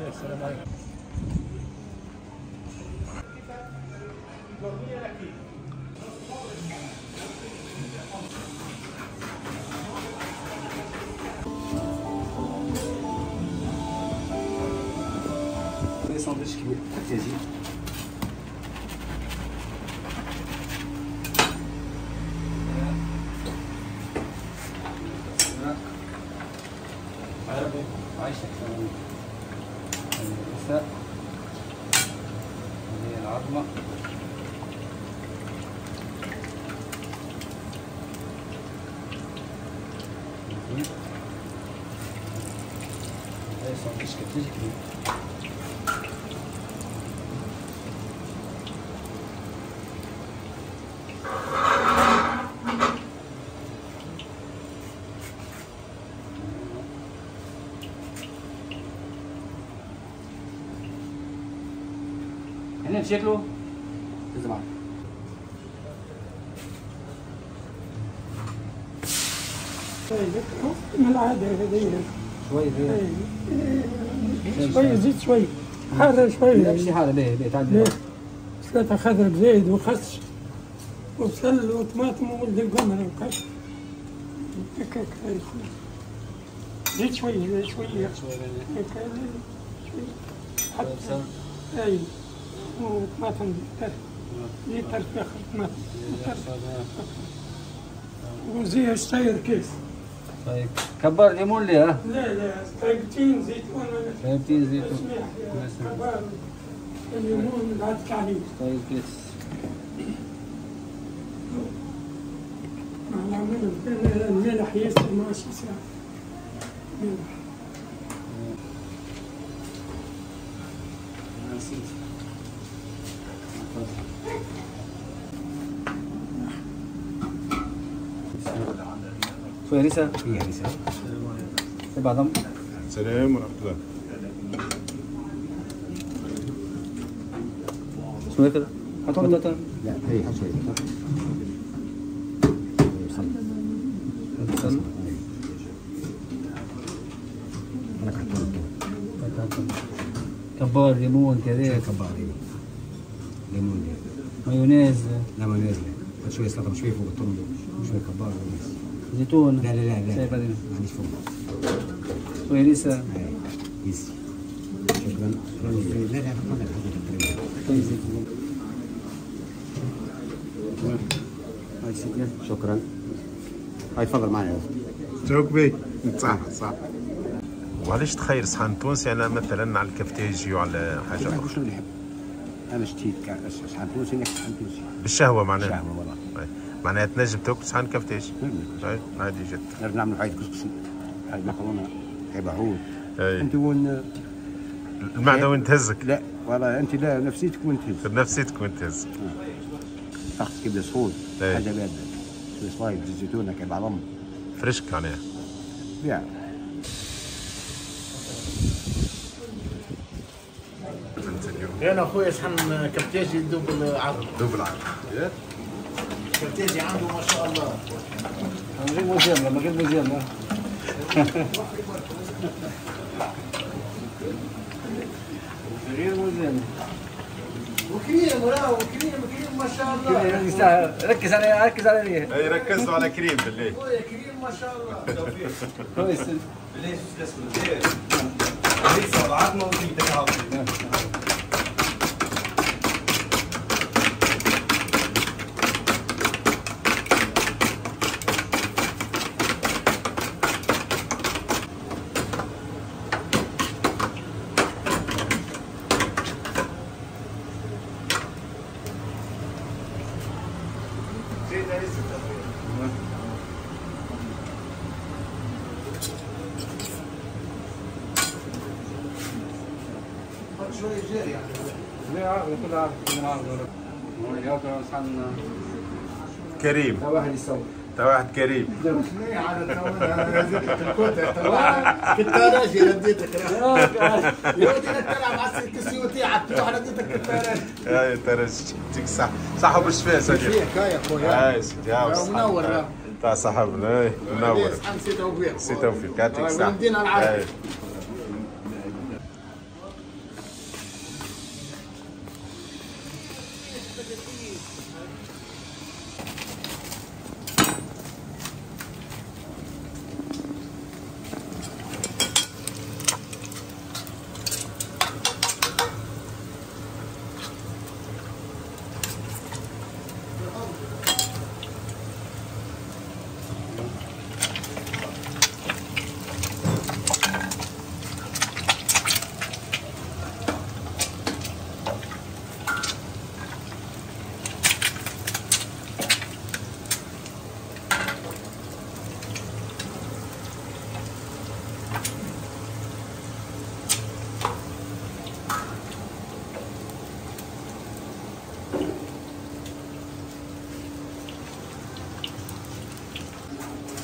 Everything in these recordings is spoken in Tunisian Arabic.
السلام عليكم. ساندويتش كبير كفتاجي. عربي عايشك. الرساء هذه العظمة. هذا ساندويتش كفتاجي كبير. هنا شكله لازم من العادة هذه شوي شوي زيت شوي حارة شوي. لا ماشي حارة، ليه تعدي سلطة خضر بزايد وخس وبصل وطماطم وولد القمر وكاش هكاك. زيت شوي شوي هكا شوي حتى اي وطماطم زيت طرف اخر طماطم وزيها شطير كيس. طيب كبار ليمون ليه؟ لا لا طيبتين زيتون. طيبتين زيتون كبار الليمون بعد عليه. طيب كيس الملح ياسر ماشي ساعة ملح. شوية هريسة؟ شوية هريسة. سبع عظم. السلام ورحمة الله. شنو كذا؟ حط بطاطا؟ لا هي حط شوية بطاطا. بصل. كبار ليمون كذا. كبار ليمون. مايونيز. لا مايونيز لا. شوية سلطة شوية فوق الطن شوية كبار مايونيز. زيتون. لا لا لا لا ما عنديش فوق. شوية هريسة. يس شكرا. لا لا طيب زيتون. هاي سيدي شكرا. هاي تفضل معنا. توك بي صح صح. وعلاش تخير صحن تونسي انا مثلا على الكفتاجي وعلى حاجة اخرى؟ شنو اللي يحب؟ انا شتيت صحن تونسي ناكل صحن تونسي. بالشهوة معناها. بالشهوة والله. معناها تنجم تاكل صحن كفتاجي. عادي جدا. نعرف نعملوا حاجة كسكسي، حاجة مكرونه، حاجة عود. انت وين المعدة وين تهزك؟ لا والله انت لا نفسيتك وين تهز. نفسيتك وين تهز. فخذ كبده سخون، حاجة باردة، شوية صلايب زيت زيتونه كعب عظم. فريشك معناها. بيع. انا خويا صحن كفتاجي double عظم. double عظم. كفتاجي عنده ما شاء الله. من غير مجاملة، من غير مجاملة. من غير مجاملة. وكريم راهو كريم كريم ما شاء الله. ركز على ركز على ليه. اي ركزوا على كريم بالله. خويا كريم ما شاء الله. كويس. بالله ليس العظمة وزيدك عظمه. كريم. واحد يسوي. انت واحد كريم. كنت راجل رديتك يا ودي تلعب على السيوتي على التروح رديتك كنت راجل. يا ترجي يعطيك الصحة، صحة وبالشفاء صديقي. يا خويا. اي سيدي منور. تاع صاحبنا منور. سي توفيق. سي توفيق يعطيك الصحة. المدينة العربية.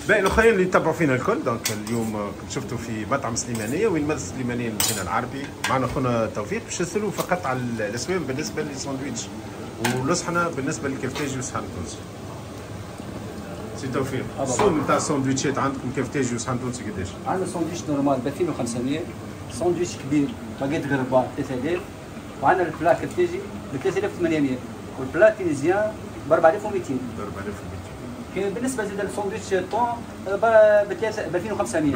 باقي الاخرين اللي يتبعوا فينا الكل، donc اليوم شفتوا في مطعم سليمانيه، وين مدرسه سليمانيه المدينة العربي، معنا خونا توفيق باش نسالوه فقط على الاسوام بالنسبة للساندويتش والصحنه بالنسبة للكفتاجي والصحن التونسي. سي توفيق، السوم نتاع الساندويتشات عندكم كفتاجي وصحن تونسي قداش؟ عندنا ساندويتش normal ب 2500، ساندويتش كبير باكيت غربا 3000، وعندنا ال plat كفتاجي ب 3800، وال plat tunisien ب 4200. ب 4200. بالنسبة زاد للساندويتش thon ب 2500. 2500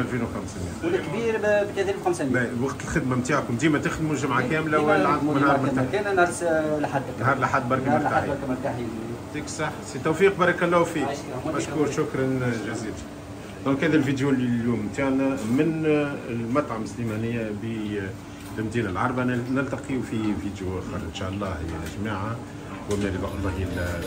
والكبير ب 3500. وقت الخدمة نتاعكم ديما تخدموا جمعه كاملة ولا عندكم نهار مرتاح؟ كان نهار الاحد. نهار الاحد برك مرتاحين. مرتاحين. يعطيك الصحة سي توفيق، بارك الله فيك. مشكور، شكرا جزيلا. donc هذا الفيديو اليوم نتاعنا من المطعم سليمانيه بالمدينة العربية، نلتقي في فيديو اخر ان شاء الله يا جماعة، ومن رضا الله الى.